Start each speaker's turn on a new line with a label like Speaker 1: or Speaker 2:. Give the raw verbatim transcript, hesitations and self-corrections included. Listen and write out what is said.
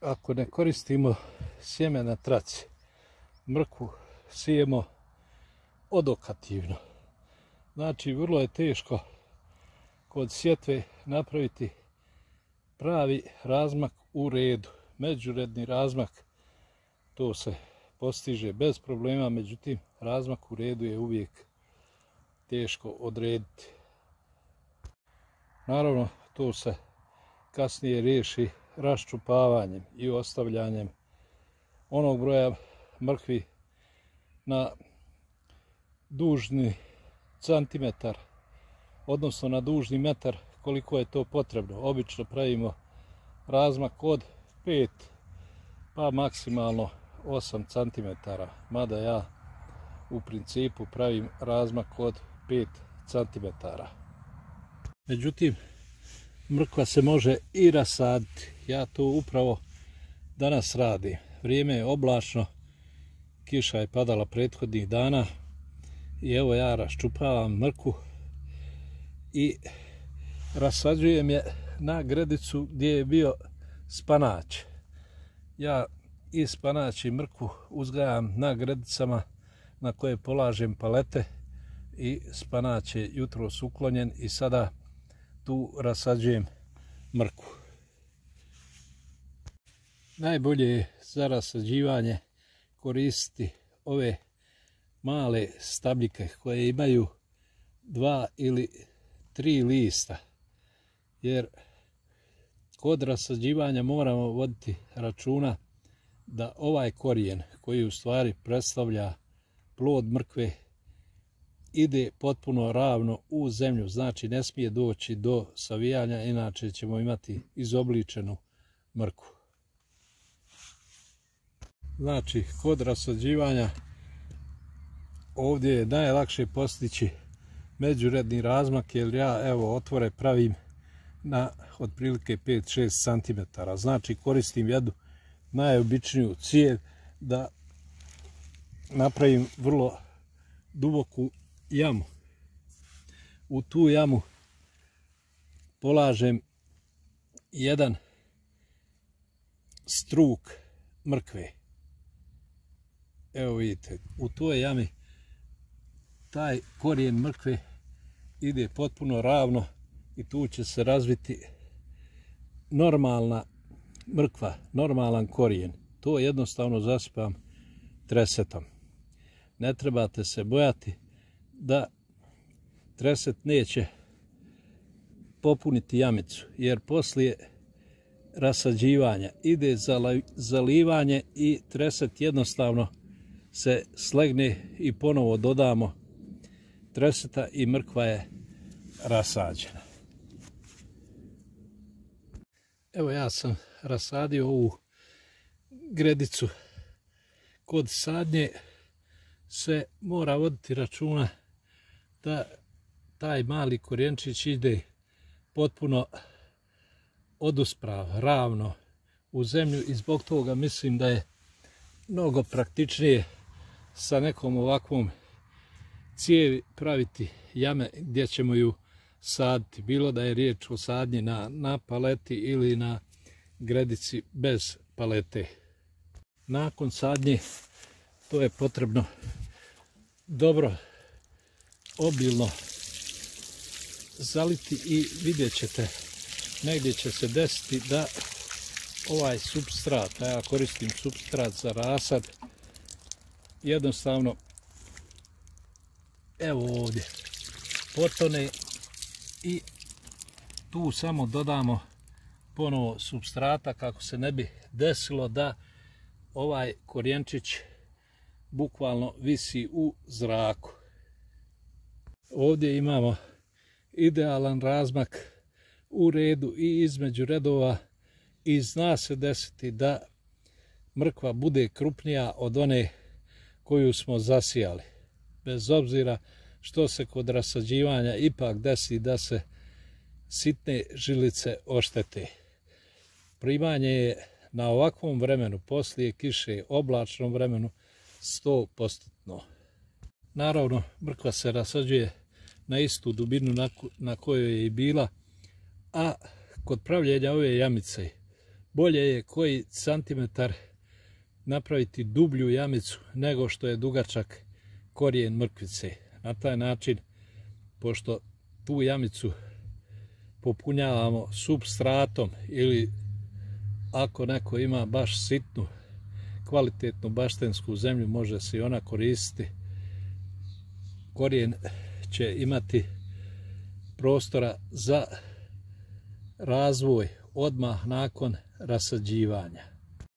Speaker 1: ako ne koristimo sjeme na traci, mrkvu sijemo odokativno. Znači, vrlo je teško kod sjetve napraviti pravi razmak u redu. Međuredni razmak, to se postiže bez problema, međutim, razmak u redu je uvijek teško odrediti. Naravno, to se kasnije riješi raščupavanjem i ostavljanjem onog broja mrkvi na dužni centimetar, odnosno na dužni metar koliko je to potrebno. Obično pravimo razmak od pet pa maksimalno osam centimetara, mada ja u principu pravim razmak od pet centimetara. Međutim, mrkva se može i rasaditi. Ja to upravo danas radim. Vrijeme je oblačno, kiša je padala prethodnih dana i evo ja raščupavam mrkvu i rasađujem je na gredicu gdje je bio spanać. Ja i spanać i mrkvu uzgajam na gredicama na koje polažem palete i spanać je jutros uklonjen i sada tu rasađujem mrkvu. Najbolje je za rasađivanje koristiti ove male stabljike koje imaju dva ili tri lista, jer kod rasađivanja moramo voditi računa da ovaj korijen koji u stvari predstavlja plod mrkve ide potpuno ravno u zemlju, znači ne smije doći do savijanja, inače ćemo imati izobličenu mrkvu. Znači, kod rasađivanja ovdje je najlakše postići međuredni razmak, jer ja evo otvore pravim na otprilike pet do šest centimetara. Znači, koristim jednu najobičniju cijev da napravim vrlo duboku jamu. U tu jamu polažem jedan struk mrkve. Evo vidite, u toj jami taj korijen mrkve ide potpuno ravno i tu će se razviti normalna mrkva, normalan korijen. To jednostavno zasipam tresetom. Ne trebate se bojati da treset neće popuniti jamicu, jer poslije rasađivanja ide zalivanje i treset jednostavno se slegne i ponovo dodamo treseta i mrkva je rasađena. Evo ja sam rasadio ovu gredicu. Kod sadnje se mora voditi računa da taj mali korijenčić ide potpuno odusprav, ravno u zemlju i zbog toga mislim da je mnogo praktičnije sa nekom ovakvom cijevi praviti jame gdje ćemo ju saditi, bilo da je riječ o sadnji na, na paleti ili na gredici bez palete. Nakon sadnje to je potrebno dobro obilno zaliti i vidjet ćete, negdje će se desiti da ovaj supstrat, a ja koristim supstrat za rasad, jednostavno evo ovdje potone i tu samo dodamo ponovo supstrata kako se ne bi desilo da ovaj korijenčić bukvalno visi u zraku. Ovdje imamo idealan razmak u redu i između redova i zna se desiti da mrkva bude krupnija od one koju smo zasijali. Bez obzira što se kod rasađivanja ipak desi da se sitne žilice oštete. Primanje je na ovakvom vremenu, poslije kiše, oblačnom vremenu, sto posto. Naravno, mrkva se rasađuje na istu dubinu na, na kojoj je i bila, a kod pravljenja ove jamice bolje je koji santimetar napraviti dublju jamicu nego što je dugačak korijen mrkvice. Na taj način, pošto tu jamicu popunjavamo supstratom ili ako neko ima baš sitnu, kvalitetnu baštensku zemlju, može se i ona koristiti. Korijen će imati prostora za razvoj odmah nakon rasađivanja.